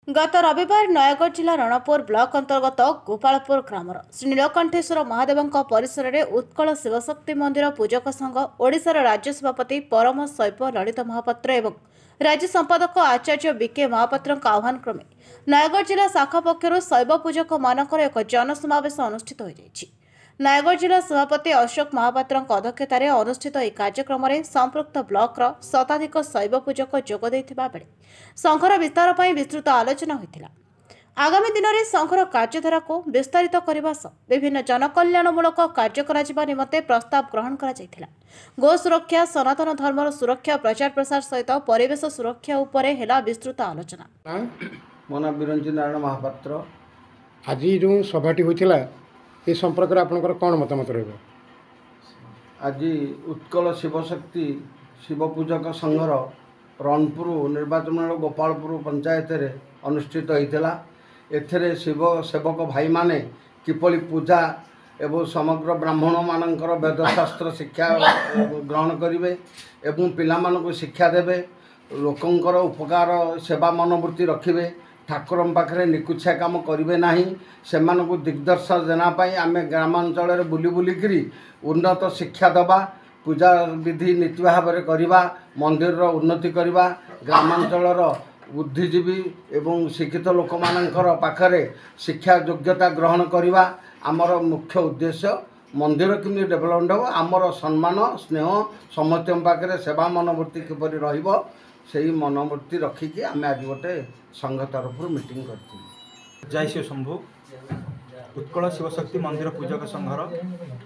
ଗତ ରବିବାର ନୟାଗଡ଼ ଜିଲ୍ଲା ରଣପୁର ବ୍ଲକ ଅନ୍ତର୍ଗତ ଗୋପାଳପୁର ଗ୍ରାମର ଶ୍ରୀ ନୀଳକଣ୍ଠେଶ୍ୱର ମହାଦେବଙ୍କ ପରିସରରେ ଉତ୍କଳ ଶିବଶକ୍ତି ମନ୍ଦିର ପୂଜକ ସଂଘ ଓଡ଼ିଶାର ରାଜ୍ୟ ସଭାପତି ପରମ ଶୈବ ଲଳିତ ମହାପାତ୍ର ଏବଂ ରାଜ୍ୟ ସମ୍ପାଦକ ଆଚାର୍ଯ୍ୟ ବିକେ ମହାପାତ୍ରଙ୍କ ଆହ୍ୱାନ କ୍ରମେ ନୟାଗଡ଼ ଜିଲ୍ଲା ଶାଖା ପକ୍ଷରୁ ଶୈବ ପୂଜକମାନଙ୍କର ଏକ ଜନସମାବେଶ ଅନୁଷ୍ଠିତ ହୋଇଯାଇଛି। ନୟାଗଡ଼ ଜିଲ୍ଲା ସଭାପତି ଅଶୋକ ମହାପାତ୍ରଙ୍କ ଅଧ୍ୟକ୍ଷତାରେ ଅନୁଷ୍ଠିତ ଏହି କାର୍ଯ୍ୟକ୍ରମରେ ସମ୍ପୃକ୍ତ ବ୍ଲକର ଶତାଧିକ ଶୈବ ପୂଜକ ଯୋଗ ଦେଇଥିବା ବେଳେ ସଂଘର ବିସ୍ତାର ପାଇଁ ବିସ୍ତୃତ ଆଲୋଚନା ହୋଇଥିଲା। ଆଗାମୀ ଦିନରେ ସଂଘର କାର୍ଯ୍ୟଧାରାକୁ ବିସ୍ତାରିତ କରିବା ସହ ବିଭିନ୍ନ ଜନକଲ୍ୟାଣମୂଳକ କାର୍ଯ୍ୟ କରାଯିବା ନିମନ୍ତେ ପ୍ରସ୍ତାବ ଗ୍ରହଣ କରାଯାଇଥିଲା। ଗୋ ସୁରକ୍ଷା, ସନାତନ ଧର୍ମର ସୁରକ୍ଷା, ପ୍ରଚାର ପ୍ରସାର ସହିତ ପରିବେଶ ସୁରକ୍ଷା ଉପରେ ହେଲା ବିସ୍ତୃତ ଆଲୋଚନା। ମୋ ନାଁ ବିରଞ୍ଚି ନାରାୟଣ ମହାପାତ୍ର। ଆଜି ଯେଉଁ ସଭାଟି ହୋଇଥିଲା ଏ ସମ୍ପର୍କରେ ଆପଣଙ୍କର କ'ଣ ମତାମତ ରହିବ? ଆଜି ଉତ୍କଳ ଶିବଶକ୍ତି ଶିବ ପୂଜକ ସଂଘର ରଣପୁର ନିର୍ବାଚନ ଗୋପାଳପୁର ପଞ୍ଚାୟତରେ ଅନୁଷ୍ଠିତ ହୋଇଥିଲା। ଏଥିରେ ଶିବ ସେବକ ଭାଇମାନେ କିପରି ପୂଜା ଏବଂ ସମଗ୍ର ବ୍ରାହ୍ମଣମାନଙ୍କର ବେଦଶାସ୍ତ୍ର ଶିକ୍ଷା ଗ୍ରହଣ କରିବେ ଏବଂ ପିଲାମାନଙ୍କୁ ଶିକ୍ଷା ଦେବେ, ଲୋକଙ୍କର ଉପକାର ସେବା ମନୋବୃତ୍ତି ରଖିବେ, ଠାକୁରଙ୍କ ପାଖରେ ନିକୁଛିଆ କାମ କରିବେ ନାହିଁ, ସେମାନଙ୍କୁ ଦିଗ୍ଦର୍ଶନ ପାଇଁ ଆମେ ଗ୍ରାମାଞ୍ଚଳରେ ବୁଲି ବୁଲିକିରି ଉନ୍ନତ ଶିକ୍ଷା ଦେବା, ପୂଜା ବିଧି ନୀତି ଭାବରେ କରିବା, ମନ୍ଦିରର ଉନ୍ନତି କରିବା, ଗ୍ରାମାଞ୍ଚଳର ବୁଦ୍ଧିଜୀବୀ ଏବଂ ଶିକ୍ଷିତ ଲୋକମାନଙ୍କର ପାଖରେ ଶିକ୍ଷା ଯୋଗ୍ୟତା ଗ୍ରହଣ କରିବା ଆମର ମୁଖ୍ୟ ଉଦ୍ଦେଶ୍ୟ। ମନ୍ଦିର କେମିତି ଡେଭଲପମେଣ୍ଟ ହେବ, ଆମର ସମ୍ମାନ ସ୍ନେହ ସମସ୍ତଙ୍କ ପାଖରେ ସେବା ମନୋବୃତ୍ତି କିପରି ରହିବ, ସେଇ ମନୋବୃତ୍ତି ରଖିକି ଆମେ ଆଜି ଗୋଟେ ସଂଘ ତରଫରୁ ମିଟିଂ କରିଥିଲୁ। ଜୟ ଶିବ ଶମ୍ଭୁ। ଉତ୍କଳ ଶିବଶକ୍ତି ମନ୍ଦିର ପୂଜକ ସଂଘର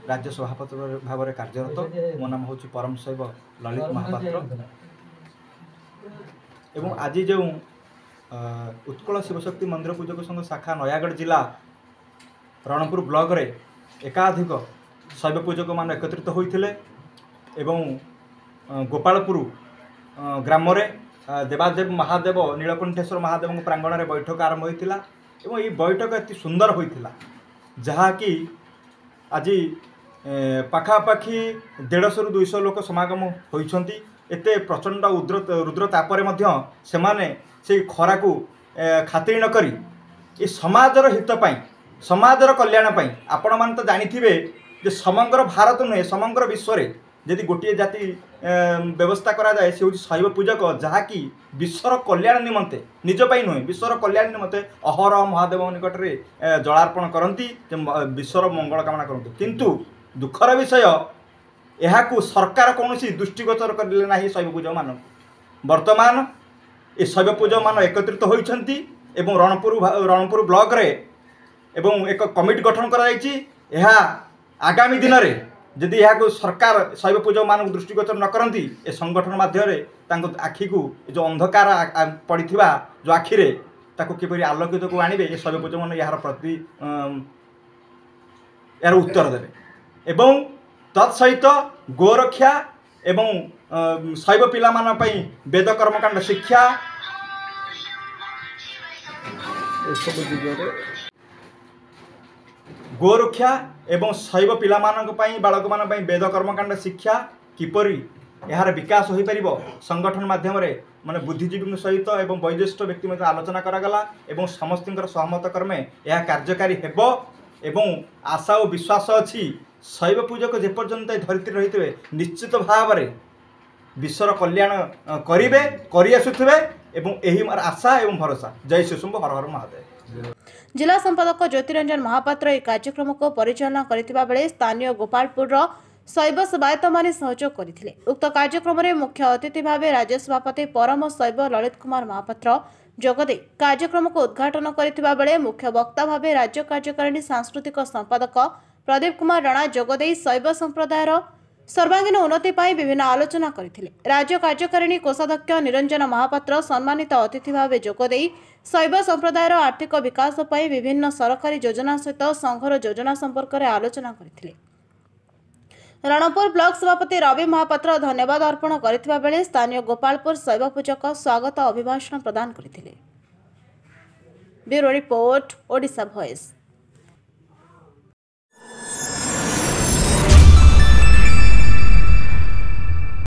ରାଜ୍ୟ ସଭାପତି ଭାବରେ କାର୍ଯ୍ୟରତ। ମୋ ନାମ ହେଉଛି ପରମ ଶୈବ ଲଳିତ ମହାପାତ୍ର। ଏବଂ ଆଜି ଯେଉଁ ଉତ୍କଳ ଶିବଶକ୍ତି ମନ୍ଦିର ପୂଜକ ସଂଘ ଶାଖା ନୟାଗଡ଼ ଜିଲ୍ଲା ରଣପୁର ବ୍ଲକରେ ଏକାଧିକ ଶୈବ ପୂଜକମାନେ ଏକତ୍ରିତ ହୋଇଥିଲେ ଏବଂ ଗୋପାଳପୁର ଗ୍ରାମରେ ଦେବାଦେବ ମହାଦେବ ନୀଳକଣ୍ଠେଶ୍ୱର ମହାଦେବଙ୍କ ପ୍ରାଙ୍ଗଣରେ ବୈଠକ ଆରମ୍ଭ ହୋଇଥିଲା। ଏବଂ ଏହି ବୈଠକ ଅତି ସୁନ୍ଦର ହୋଇଥିଲା, ଯାହାକି ଆଜି ପାଖାପାଖି 150ରୁ 200 ଲୋକ ସମାଗମ ହୋଇଛନ୍ତି। ଏତେ ପ୍ରଚଣ୍ଡ ରୁଦ୍ର ତାପରେ ମଧ୍ୟ ସେମାନେ ସେଇ ଖରାକୁ ଖାତିର ନକରି ଏ ସମାଜର ହିତ ପାଇଁ, ସମାଜର କଲ୍ୟାଣ ପାଇଁ, ଆପଣମାନେ ତ ଜାଣିଥିବେ ଯେ ସମଗ୍ର ଭାରତ ନୁହେଁ ସମଗ୍ର ବିଶ୍ୱରେ ଯଦି ଗୋଟିଏ ଜାତି ବ୍ୟବସ୍ଥା କରାଯାଏ ସେ ହେଉଛି ଶୈବ ପୂଜକ, ଯାହାକି ବିଶ୍ୱର କଲ୍ୟାଣ ନିମନ୍ତେ, ନିଜ ପାଇଁ ନୁହେଁ, ବିଶ୍ୱର କଲ୍ୟାଣ ନିମନ୍ତେ ଅହରହ ମହାଦେବଙ୍କ ନିକଟରେ ଜଳାର୍ପଣ କରନ୍ତି, ଯେ ବିଶ୍ୱର ମଙ୍ଗଳ କାମନା କରନ୍ତି। କିନ୍ତୁ ଦୁଃଖର ବିଷୟ, ଏହାକୁ ସରକାର କୌଣସି ଦୃଷ୍ଟିଗୋଚର କରିଲେ ନାହିଁ ଶୈବ ପୂଜକମାନଙ୍କୁ। ବର୍ତ୍ତମାନ ଏ ଶୈବ ପୂଜକମାନେ ଏକତ୍ରିତ ହୋଇଛନ୍ତି ଏବଂ ରଣପୁର ବ୍ଲକରେ ଏବଂ ଏକ କମିଟି ଗଠନ କରାଯାଇଛି। ଏହା ଆଗାମୀ ଦିନରେ ଯଦି ଏହାକୁ ସରକାର ଶୈବ ପୂଜକମାନଙ୍କୁ ଦୃଷ୍ଟିଗୋଚର ନ କରନ୍ତି, ଏ ସଂଗଠନ ମାଧ୍ୟମରେ ତାଙ୍କ ଆଖିକୁ ଯେଉଁ ଅନ୍ଧକାର ପଡ଼ିଥିବା ଯେଉଁ ଆଖିରେ ତାକୁ କିପରି ଆଲୋକିତକୁ ଆଣିବେ, ଏ ଶୈବ ପୂଜକମାନେ ଏହାର ପ୍ରତି ଏହାର ଉତ୍ତର ଦେବେ। ଏବଂ ତତ୍ ସହିତ ଗୋରକ୍ଷା ଏବଂ ଶୈବ ପିଲାମାନଙ୍କ ପାଇଁ ବେଦ କର୍ମକାଣ୍ଡ ଶିକ୍ଷା ଏସବୁ ଦିଗରେ ଗୋରକ୍ଷା ଏବଂ ଶୈବ ପିଲାମାନଙ୍କ ପାଇଁ, ବାଳକମାନଙ୍କ ପାଇଁ ବେଦ କର୍ମକାଣ୍ଡ ଶିକ୍ଷା କିପରି ଏହାର ବିକାଶ ହୋଇପାରିବ ସଂଗଠନ ମାଧ୍ୟମରେ, ମାନେ ବୁଦ୍ଧିଜୀବୀଙ୍କ ସହିତ ଏବଂ ବୟୋଜ୍ୟେଷ୍ଠ ବ୍ୟକ୍ତି ମଧ୍ୟ ଆଲୋଚନା କରାଗଲା ଏବଂ ସମସ୍ତଙ୍କର ସହମତ କ୍ରମେ ଏହା କାର୍ଯ୍ୟକାରୀ ହେବ। ଏବଂ ଆଶା ଓ ବିଶ୍ୱାସ ଅଛି ଶୈବ ପୂଜକ ଯେପର୍ଯ୍ୟନ୍ତ ଏ ଧରିତ୍ରୀ ରହିଥିବେ ନିଶ୍ଚିତ ଭାବରେ ବିଶ୍ୱର କଲ୍ୟାଣ କରିବେ, କରିଆସୁଥିବେ ଏବଂ ଏହି ମୋର ଆଶା ଏବଂ ଭରସା। ଜୟ ଶିବଶମ୍ଭୁ, ହର ହର ମହାଦେବ। ଜିଲ୍ଲା ସମ୍ପାଦକ ଜ୍ୟୋତିରଞ୍ଜନ ମହାପାତ୍ର ଏହି କାର୍ଯ୍ୟକ୍ରମକୁ ପରିଚାଳନା କରିଥିବା ବେଳେ ସ୍ଥାନୀୟ ଗୋପାଳପୁରର ଶୈବ ସେବାୟତମାନେ ସହଯୋଗ କରିଥିଲେ। ଉକ୍ତ କାର୍ଯ୍ୟକ୍ରମରେ ମୁଖ୍ୟ ଅତିଥି ଭାବେ ରାଜ୍ୟ ସଭାପତି ପରମ ଶୈବ ଲଳିତ କୁମାର ମହାପାତ୍ର ଯୋଗଦେଇ କାର୍ଯ୍ୟକ୍ରମକୁ ଉଦ୍ଘାଟନ କରିଥିବା ବେଳେ ମୁଖ୍ୟ ବକ୍ତା ଭାବେ ରାଜ୍ୟ କାର୍ଯ୍ୟକାରିଣୀ ସାଂସ୍କୃତିକ ସମ୍ପାଦକ ପ୍ରଦୀପ କୁମାର ରଣା ଯୋଗଦେଇ ଶୈବ ସମ୍ପ୍ରଦାୟର ସର୍ବାଙ୍ଗୀନ ଉନ୍ନତି ପାଇଁ ବିଭିନ୍ନ ଆଲୋଚନା କରିଥିଲେ। ରାଜ୍ୟ କାର୍ଯ୍ୟକାରିଣୀ କୋଷାଧ୍ୟକ୍ଷ ନିରଞ୍ଜନ ମହାପାତ୍ର ସମ୍ମାନିତ ଅତିଥି ଭାବେ ଯୋଗଦେଇ ଶୈବ ସମ୍ପ୍ରଦାୟର ଆର୍ଥିକ ବିକାଶ ପାଇଁ ବିଭିନ୍ନ ସରକାରୀ ଯୋଜନା ସହିତ ସଂଘର ଯୋଜନା ସମ୍ପର୍କରେ ଆଲୋଚନା କରିଥିଲେ। ରଣପୁର ବ୍ଲକ ସଭାପତି ରବି ମହାପାତ୍ର ଧନ୍ୟବାଦ ଅର୍ପଣ କରିଥିବା ବେଳେ ସ୍ଥାନୀୟ ଗୋପାଳପୁର ଶୈବ ପୂଜକ ସ୍ୱାଗତ ଅଭିଭାଷଣ ପ୍ରଦାନ କରିଥିଲେ। Bureau report, Odisha voice.